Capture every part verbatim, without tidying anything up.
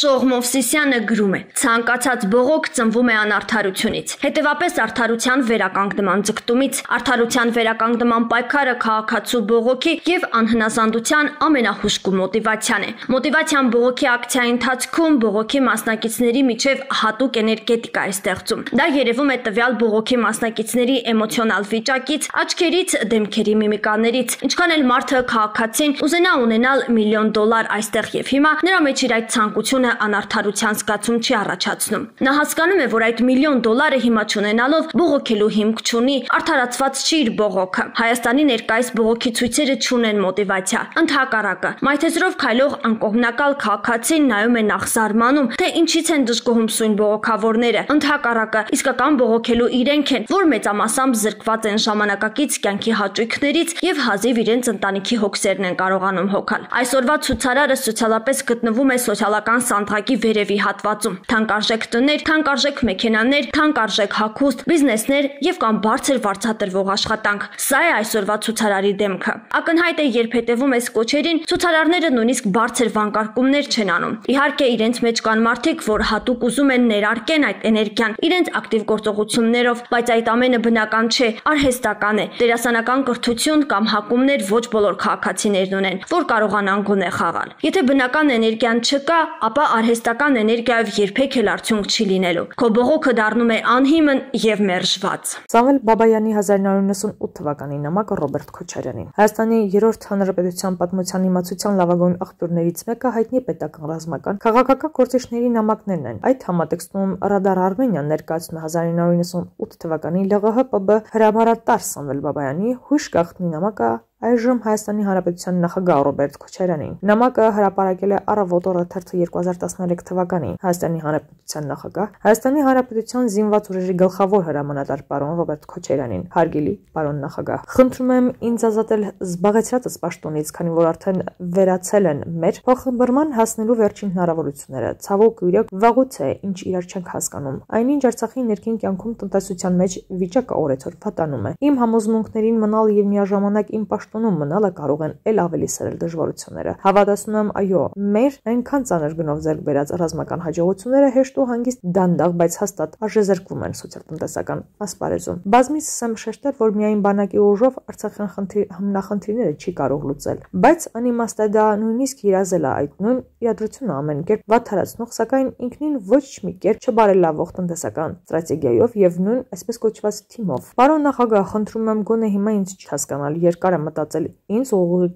Շողմ Մովսիսյանը գրում է. ցանկացած բողոք ծնվում է անարդարությունից, հետևապես արդարության վերականգնման ձգտումից, արդարության վերականգնման պայքարը քաղաքացու բողոքի եւ անհնազանդության ամենահուժկու մոտիվացիան է։ Մոտիվացիան բողոքի ակցիայի ընթացքում բողոքի մասնակիցների միջև հատուկ էներգետիկա է ստեղծում։ Դա երևում է տվյալ բողոքի մասնակիցների էմոցիոնալ վիճակից, աչքերից, դեմքերի միմիկաներից, ինչքան էլ մարդը քաղաքացին ուզենա ունենալ միլիոն դոլար այստեղ եւ հիմա, նրա մեջ իր այդ ցանկությունը անարդարության զգացում չի առաջացնում։ Նա հասկանում է, որ այդ միլիոն դոլարը հիմա չունենալով բողոքելու հիմք չունի, արդարացված չի իր բողոքը։ Հայաստանի ներկայիս բողոքի ցույցերը չունեն մոտիվացիա, ընդհակառակը, մայթեզրով քայլող անկողմնակալ քաղաքացին նայում է նախ զարմանում, թե ինչից են դժգոհում սույն բողոքավորները, ընդհակառակը, իսկական բողոքելու իրենք են, որ մեծամասամբ զրկված են ժամանակակից կյանքի հաճույքներից եւ հազիվ իրենց ընտանիքի հոգսերն են կարողանում հոգալ։ Այսօրվա ցուցարարը սոցիալապես գտնվում է սոցիալական սանդղակի վերևի հատվածում։ Թանկարժեք տներ, թանկարժեք մեքենաներ, թանկարժեք հագուստ, բիզնեսներ եւ կամ բարձր վարձատրվող աշխատանք։ Սա է այսօրվա ցուցարարի դեմքը։ Ակնհայտ է, երբ հետևում ես կոչերին, ցուցարարները նույնիսկ բարձր վանկարկումներ չեն անում։ Իհարկե, իրենց մեջ կան մարդիկ, որ հատուկ ուզում են ներարկեն այդ էներգիան իրենց ակտիվ գործողություններով, բայց այդ ամենը բնական չէ, արհեստական է։ Դերասանական կրթություն կամ հակումներ ոչ բոլոր քաղաքացիներն ունեն, որ կարողանան գոնե խաղալ։ Եթե բնական էներգիան չկա, ապա արհեստական էներգիայով երբեք էլ արդյունք չի լինելու։ Քո բողոքը դառնում է անհիմն եւ մերժված։ Սաղել Բաբայանի հազար նորը նվսունութ թվականի նամակը Ռոբերտ Քոչարյանին։ Հայաստանի երրորդ հանրապետության պատմության իմացության լավագույն աղբյուրներից մեկը հայտնի պետական ռազմական քաղաքական գործիչների նամակներն են։ Այդ համատեքստում Ռադար Արմենիան ներկայացնում է հազար նորը նվսունութ թվականի ԼՂՀ-ՊԲ հրամանատար Սամվել Բաբայանի հույժ գաղտնի նամակը այժմ Հայաստանի Հանրապետության նախագահ Ռոբերտ Քոչարյանին։ Նամակը հրապարակել է Առավոտ օրը թերթը երկու հազար տասներեք թվականին Հայաստանի Հանրապետության նախագահ, Հայաստանի Հանրապետության զինված ուժերի գլխավոր հրամանատար պարոն Ռոբերտ Քոչարյանին։ Հարգելի պարոն նախագահ, խնդրում եմ ինձ ազատել զբաղեցրածս պաշտոնից, քանի որ արդեն վերացել են մեր փոխմբռնման հասնելու վերջին հնարավորությունները։ Ցավոք յուրեք վաղուց է, ինչ իրար չենք հասկանում։ Այնինչ Արցախի ներքին կյանքում տնտեսության մեջ վիճակը օրեցօր վատանում է։ Իմ համոզմունքներին մնալ եւ միաժամանակ իմ պաշտոնում մնալը կարող են ել ավելի սրել դժվարությունները։ Հավատացնում եմ, այո, մեր այնքան ծանր գնով ձեռք բերած ռազմական հաջողությունները հեշտ ու հանգիստ դանդաղ, բայց հաստատ արժեզրկվում են սոցիալ-տնտեսական ասպարեզում։ Բազմիցս եմ շեշտել, որ միայն բանակի ուժով Արցախյան հիմնախնդիրները չի կարող լուծել, բայց անիմաստ է դա նույնիսկ երազել է այդ նույն իրադրությունը ամեն կերպ վատթարացնող, սակայն ինքնին ոչ մի կերպ չբարելավող տնտեսական ստրատեգիայով եւ նույն այսպես կոչված թիմով։ Պարոն նախագահ, խնդրում եմ գոնե հիմա ինձ չհասկանալ, երկար եմ մտածել ինձ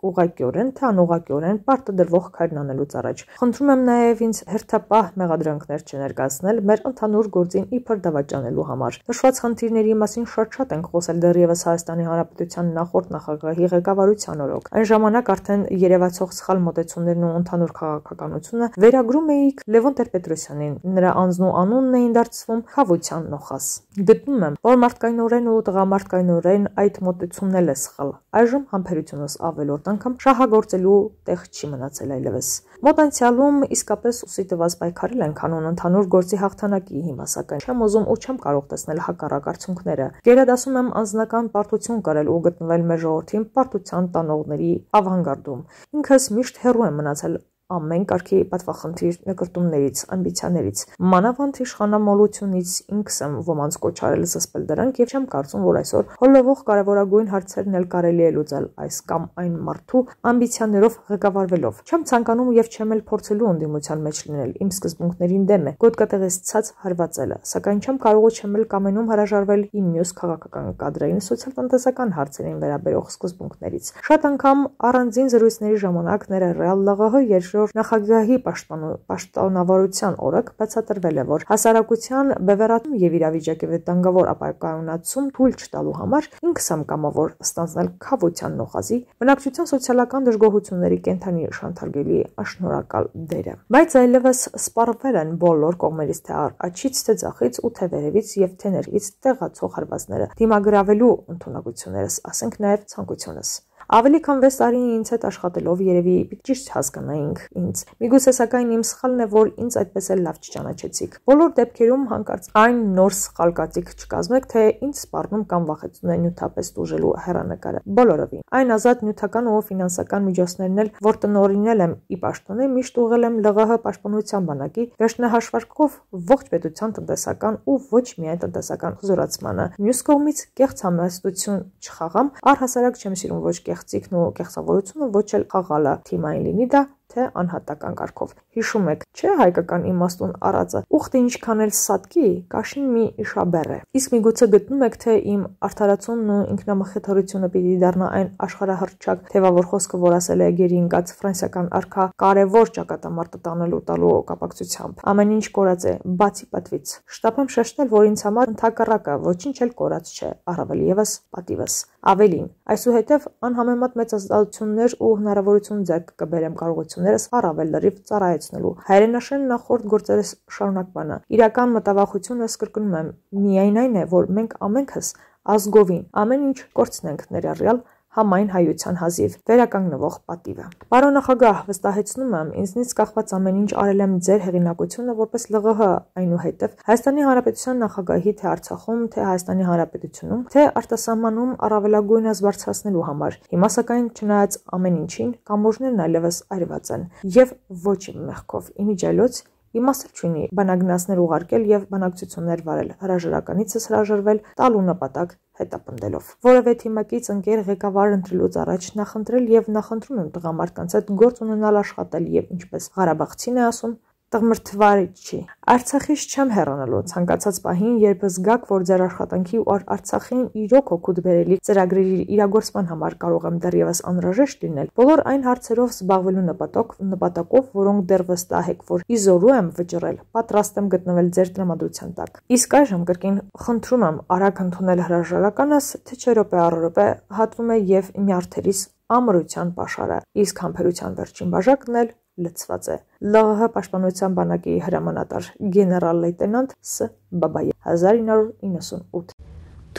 ուղղակիորեն, թե անուղղակիորեն պարտադրվող քայլն անելուց առաջ։ Խնդրում եմ նաև ինձ հերթապահ մեղադրանքներ չներկայացնել մեր ընդհանուր գործին իբր դավաճանելու համար։ Նշված խնդիրների մասին շատ-շատ ենք խոսել դեռևս Հայաստանի Հանրապետության նախորդ նախագահի ղեկավարության օրոք։ Այն ժամանակ արդեն երևացող սխալ մոտեցումներն ու ընդհանուր քաղաքականությունը վերագրում էիք Լևոն Տեր-Պետրոսյանին։ Նրա անձն ու անունն էին դարձվում խավության նոխազ։ Գտնում եմ, որ մարդկայնորեն ու տղամարդկայնորեն այդ մոտեցումն էլ է սխալ։ Այժմ համբերությունս ավելորդ անգամ շահագործելու տեղ չի մնացել այլևս։ Մոտ անցյալում իսկապես ուսի տված պայքարել են կանոն ընդհանուր գործի հաղթանակի հիմա, սակայն չեմ ուզում ու չեմ կարող տեսնել հակառակ արդյունքները։ Գերադասում եմ անձնական պարտություն կրել ու գտնվել մեր ժողովրդին պարտության տանողների ավանգարդում։ Ինքս միշտ հեռու եմ մնացել ամեն կարգի պատվախնդիր նկրտումներից, ամբիցիաներից, մանավանդ իշխանամոլությունից ինքս եմ ոմանց կոչարել զսպել դրանք եւ չեմ կարծում, որ այսօր հոլովող կարևորագույն հարցերն էլ կարելի է լուծել այս կամ այն մարդու ամբիցիաներով ղեկավարվելով։ Չեմ ցանկանում եւ չեմ էլ փորձելու ընդդիմության մեջ լինել, իմ սկզբունքներին դեմ է գոտկատեղից ցած հարվածելը, սակայն չեմ կարող ու չեմ էլ կամենում հրաժարվել իմ մյուս քաղաքական կադրային սոցիալ-տնտեսական հարցերին վերաբերող սկզբունքներից։ Շատ անգամ առանձին զրույցների ժամանակ ներառյալ ԼՂՀ նախագահի պաշտոնավարության օրոք բացատրվել է, որ հասարակության բևեռացում եւ իրավիճակի վտանգավոր ապակայունացում թույլ չտալու համար ինքս եմ կամավոր ստանձնել խավության նոխազի բնակչության սոցիալական դժգոհությունների կենթանի շանթարգելի աշնորհակալ դերը։ Բայց այլևս սպառվել են բոլոր կողմերից, թե աչից, թե ձախից ու թե վերևից եւ թե ներքից տեղացող հարվածները, դիմագրավելու ընդունակություններս, ասենք նաեւ ցանկությունս։ Ավելի քան վեց տարի ինձ հետ աշխատելով երևի ճիշտ հասկանայինք ինձ։ Միգուցե սակայն իմ սխալն է, որ ինձ այդպես էլ լավ չճանաչեցիք։ Բոլոր դեպքերում հանկարծ այն նոր սխալ կատիկ չկազմեք, թե ինձ սպառնում կամ վախեցնում է նյութապես տուժելու հեռանկարը։ Բոլորովին։ Այն ազատ նյութական ու ֆինանսական միջոցներն էլ, որ տնօրինել եմ ի պաշտոնե, միշտ ուղղել եմ ԼՂՀ պաշտպանության բանակի վերջնահաշվարկով ողջ պետության տնտեսական ու ոչ միայն տնտեսական զորացմանը։ Մյուս կողմից կեղծ համեստություն չխաղամ, առհասարակ չեմ սիրում ոչ կեղծիքն ու կեղծավորությունը, ոչ էլ խաղալը, թիմային լինի դա թե անհատական կարգով։ Հիշում եք, չէ՞ հայկական իմաստուն առածը, ուխտը ինչքան էլ սատկի, կաշին մի իշաբեռ է։ Իսկ միգուցե գտնում եք, թե իմ արդարացումն ու ինքնամխիթարությունը պիտի դառնա այն աշխարհահռչակ թևավոր խոսքը, որ ասել է գերի ընկած ֆրանսիական արքա կարևոր ճակատամարտը տանելու տալու կապակցությամբ։ Ամեն ինչ կորած է, բացի պատվից։ Շտապ եմ շեշտել, որ ինձ համար ընդհակառակը ոչինչ էլ կորած չէ, առավել եւս պատիվս։ Ավելին, այսուհետև անհամեմատ մեծ ազատություններ ու հնարավորություն ձեռք կբերեմ կարողություններս առավել լրիվ ծառայեցնելու։ Հայրենաշեն նախորդ գործերս շարունակմանը։ Իրական մտավախությունս կրկնում եմ, միայն այն է, որ մենք ամենքս ազգովին ամեն ինչ կորցնենք ներառյալ համայն հայության հազիվ վերականգնվող պատիվը։ Պարոն նախագահ, վստահեցնում եմ, ինձնից կախված ամեն ինչ արել եմ ձեր հեղինակությունը որպես ԼՂՀ, այնուհետև Հայաստանի Հանրապետության նախագահի թե Արցախում, թե Հայաստանի Հանրապետությունում, թե արտասահմանում առավելագույնս բարձրացնելու համար։ Հիմա սակայն չնայած ամեն ինչին, կամուրջներն այլևս այրված են եւ ոչ իմ մեղքով, իմիջիայլոց իմաստ չունի բանագնացներ ուղարկել եւ բանակցություններ վարել, հրաժարականիցս հրաժարվել, տալու նպատակ հետապնդելով։ Որևէ թիմակից ընկեր ղեկավար ընտրելուց առաջ նախընտրել եւ նախընտրում եմ տղամարդկանց հետ գործ ունենալ աշխատել եւ ինչպես Ղարաբաղցին է ասում, տղմրթվարիչի։ Արցախից չեմ հեռանալու ցանկացած պահին, երբ զգաք, որ ձեր աշխատանքի ու Արցախին իրոք օգուտ բերելի ծրագրերի իրագործման համար կարող եմ դեռևս անհրաժեշտ լինել, բոլոր այն հարցերով զբաղվելու նպատակ, նպատակով, որոնք դեռ վստահ եք, որ իզորու եմ վճռել, պատրաստ եմ գտնվել ձեր տրամադրության տակ։ Իսկ այժմ կրկին խնդրում եմ արագ ընդունել հրաժարականս, թե չէ րոպե առ րոպե հատվում է եւ նյարդերիս ամրության pašարը, իսկ համբերության վերջին բաժակն էլ լցված է։ ԼՂՀ պաշտպանության բանակի հրամանատար գեներալ լեյտենանտ Ս. Բաբայ հազար ինը հարյուր իննսունութ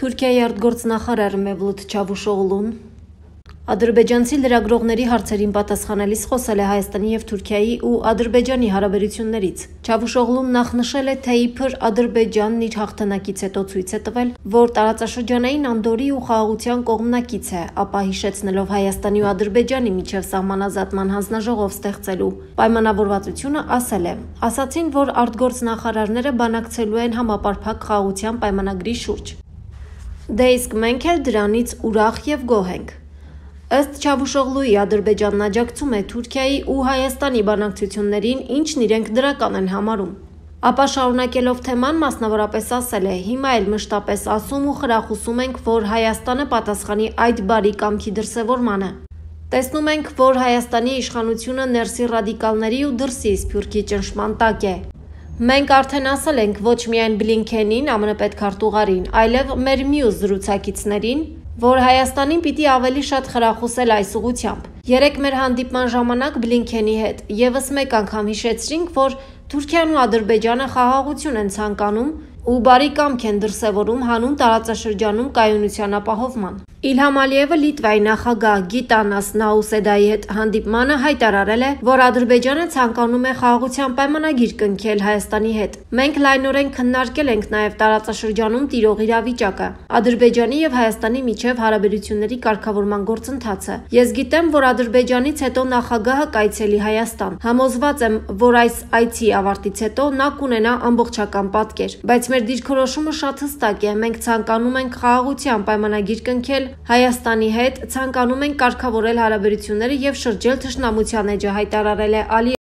Թուրքիայի արտգործնախարար Մևլութ Չավուշօղլուն ադրբեջանցի լրագրողների հարցերին պատասխանելիս խոսել է Հայաստանի եւ Թուրքիայի ու Ադրբեջանի հարաբերություններից։ Չավուշօղլուն նախ նշել է, թե իբր Ադրբեջանն իր հաղթանակից հետո ցույց է տվել, որ տարածաշրջանային անդորի ու խաղաղության կողմնակից է, ապա հիշեցնելով Հայաստանի ու Ադրբեջանի միջև սահմանազատման հանձնաժողով ստեղծելու պայմանավորվածությունը, ասել է. ասացին, որ արտգործնախարարները բանակցելու են համապարփակ խաղաղության պայմանագրի շուրջ։ Դե իսկ մենք էլ դրանից ուրախ եւ գոհ ենք։ Ըստ Չավուշօղլուի, Ադրբեջանն աջակցում է Թուրքիայի ու Հայաստանի բանակցություններին, ինչն իրենք դրական են համարում։ Ապա շարունակելով թեման, մասնավորապես ասել է. հիմա էլ մշտապես ասում ու խրախուսում ենք, որ Հայաստանը պատասխանի այդ բարի կամքի դրսևորմանը։ Տեսնում ենք, որ Հայաստանի իշխանությունը ներսի ռադիկալների ու դրսի սփյուռքի ճնշման տակ է։ Մենք արդեն ասել ենք ոչ միայն Բլինքենին, ԱՄՆ պետքարտուղարին, այլև մեր մյուս զրուցակիցներին, որ Հայաստանին պիտի ավելի շատ խրախուսել այս ուղղությամբ։ Երեք մեր հանդիպման ժամանակ Բլինքենի հետ եւս մեկ անգամ հիշեցրինք, որ Թուրքիան ու Ադրբեջանը խաղաղություն են ցանկանում ու բարի կամք են դրսևորում հանուն տարածաշրջանում կայունության ապահովման։ Իլհամ Ալիևը Լիտվայի նախագահ Գիտանաս Նաուսեդայի հետ հանդիպմանը հայտարարել է, որ Ադրբեջանը ցանկանում է խաղաղության պայմանագիր կնքել Հայաստանի հետ։ Մենք լայնորեն քննարկել ենք նաև տարածաշրջանում տիրող իրավիճակը, Ադրբեջանի եւ Հայաստանի միջև հարաբերությունների կարգավորման գործընթացը։ Ես գիտեմ, որ Ադրբեջանից հետո նախագահը կայցելի Հայաստան։ Համոզված եմ, որ այս այցի ավարտից հետո նա կունենա ամբողջական պատկեր, բայց մեր դիրքորոշումը շատ հստակ է։ Մենք ցանկանում ենք խաղաղության պայմանագիր կնքել Հայաստանի հետ, ցանկանում ենք կարգավորել հարաբերությունները եւ շրջել թշնամության էջը, հայտարարել է Ալիևը։